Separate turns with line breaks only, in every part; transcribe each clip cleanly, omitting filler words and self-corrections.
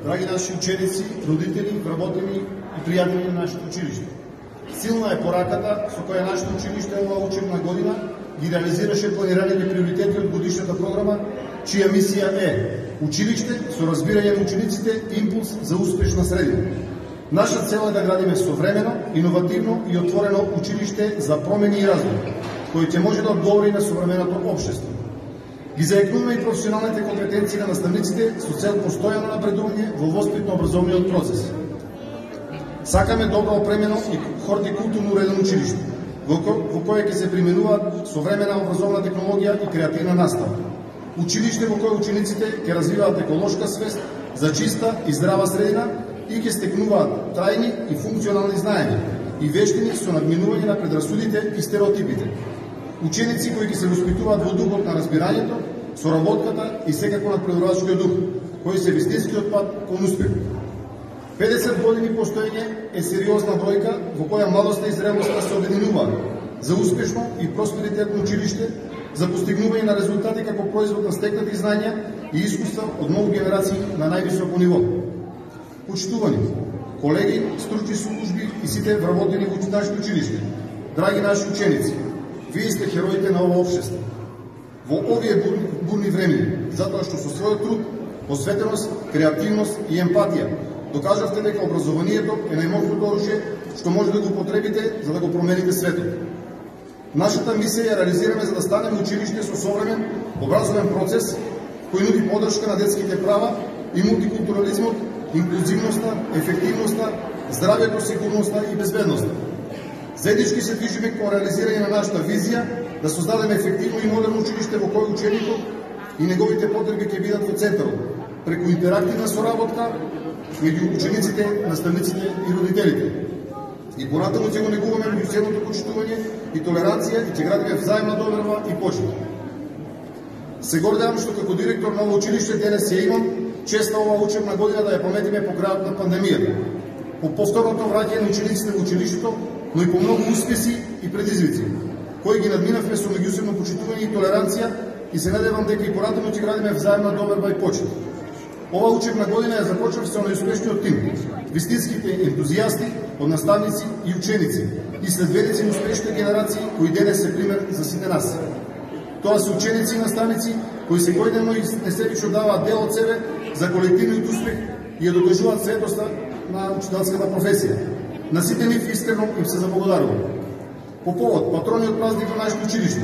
драги наши ученици, родители, вработени и пријатели на нашето училиште. Силна е пораката со која нашето училиште оваа учебна година ги реализираше планираните приоритети од годишната програма, чија мисија е училиште со разбирање на учениците, импулс за успешна средина. Наша цел е да градиме современо, иновативно и отворено училиште за промени и развој, кој ќе може да одговори на современото општество. Ги заекнуваме и професионалните компетенции на наставниците со цел постојано напредување во воспитно-образовниот процес. Сакаме добро опремено и хортикултурно уредено училиште, во кое ќе се применуваат современа образовна технологија и креативна настава. Училиште во кое учениците ќе развиваат еколошка свест за чиста и здрава средина и ќе стекнуваат трајни и функционални знаења и вештини со надминување на предрасудите и стереотипите. Ученици кои ќе се воспитуваат во духот на разбирањето, соработката и секако надпреварувачкиот дух, кои се вистинскиот пат кон успех. 50 години постоење е сериозна бројка во која младоста и зрелоста се обединуваат за успешно и просперитетно училиште, за постигнување на резултати како производ на стекнати знања и искуства од многу генерации на највисоко ниво. Почитувани колеги, стручни служби и сите вработени во нашето училиште, драги наши ученици, вие сте хероите на ова општество. Во овие бурни времења, затоа што со својот труд, посветеност, креативност и емпатија докажавте дека образованието е најмощното оружје што може да го употребите за да го промените светот. Нашата мисија ја реализираме за да станеме училиште со современ образовен процес кој нуди поддршка на детските права и мултикултурализмот, инклузивноста, ефективноста, здравјето, сигурноста и безбедноста. Заеднички се движиме кон реализирање на нашата визија да создадеме ефективно и модерно училиште во кој ученикот и неговите потреби ќе бидат во центарот, преку интерактивна соработка меѓу учениците, наставниците и родителите. И понатаму ќе го негуваме меѓусебното почитување и толеранција и ќе градиме взаимна доверба и почит. Се гордеам што како директор на ова училиште денес ја имам честа оваа учебна година да ја пометиме по крајот на пандемијата, по повторното враќање на учениците во училиштето, но и по многу успеси и предизвици, кои ги надминавме со меѓусебно почитување и толеранција и се надевам дека и понатаму ќе градиме взаимна доверба и почит. Ова учебна година ја започнав со најуспешниот тим, вистинските ентузијасти од наставници и ученици и следбеници на успешните генерации кои денес се пример за сите нас. Тоа се ученици и наставници кои секојдневно и несебично даваат дел од себе за колективниот успех и ја докажуваат светоста на учителската професија. На сите нив искрено им се заблагодарувам. По повод патрониот празник на нашето училиште,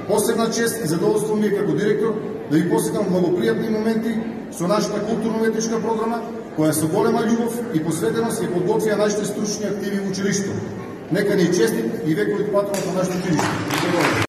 посебна чест и задоволство ми е како директор да ви посетам благопријатни моменти со нашата културно-уметничка програма, која со голема љубов и посветеност ја подготвија нашите стручни активи во училиштето. Нека ни е честит и вековит патрон на нашето училиште.